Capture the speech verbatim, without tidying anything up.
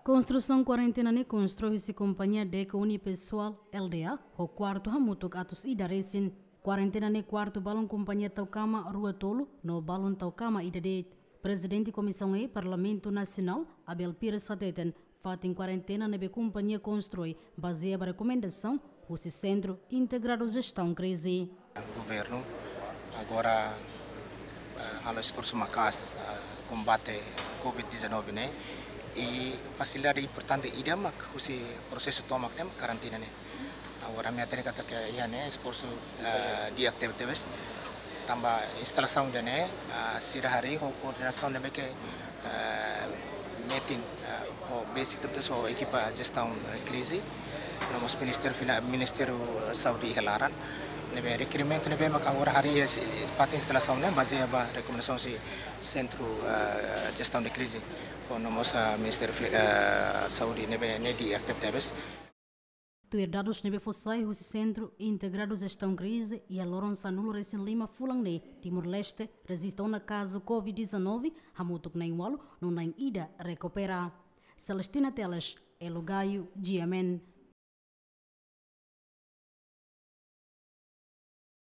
Konstrusaun kuarentena ne'e konstrui husi kompañia Deco Unipessoal Lda, ho kuartu hamutuk atus ida resin. Kuarentena ne'e kuartu balun kompañia tau kama rua tolu, no balun tau kama ida de'it. Prezidente Komisaun E Parlamentu Nasionál, Abel Pires hateten, fatin kuarentena ne'ebé kompañia konstrui bazeia ba rekomendasaun husi Sentru Integradu Jestaun Krize. Governu agora, eh, halo esforsu maka'as, eh, kombate covid dezanove ne'e, i fasilidade importante ida mak husi prosesu tomak ne'e mak kuarentena ne'e. Agora ami hatene katak iha ne'e esforsu, eh, di'ak tebetebes. Tanba instalasaun ida ne'e, eh, sira harii ho koordenasaun ne'ebé ke, eh, metin, eh, ho basic tebetebes ho ekipa jestaun, eh, krize. No mós Ministériu Fina-, Ministériu, eh, Saúde iha laran. Ne'ebé rekerimentu ne'ebé maka agora harii, eh, si-, fatin instalasaun ne'e bazeia ba rekomendasaun husi Sentru, eh, Jestaun de Krize. Ho no mós, eh, Ministériu Fli-, eh, Saúde ne'ebé ne'e di'ak tebetebes. Tuir dadus ne'ebé fó sai husi Sentru Integradu Jestaun Krize, iha loron sanulu resin lima fulan ne'e, Timor-Leste rejista ona kazu covid dezanove hamutuk na'in ualu no na'in ida rekupera. Celestina Teles, Elo Gaio, G M N.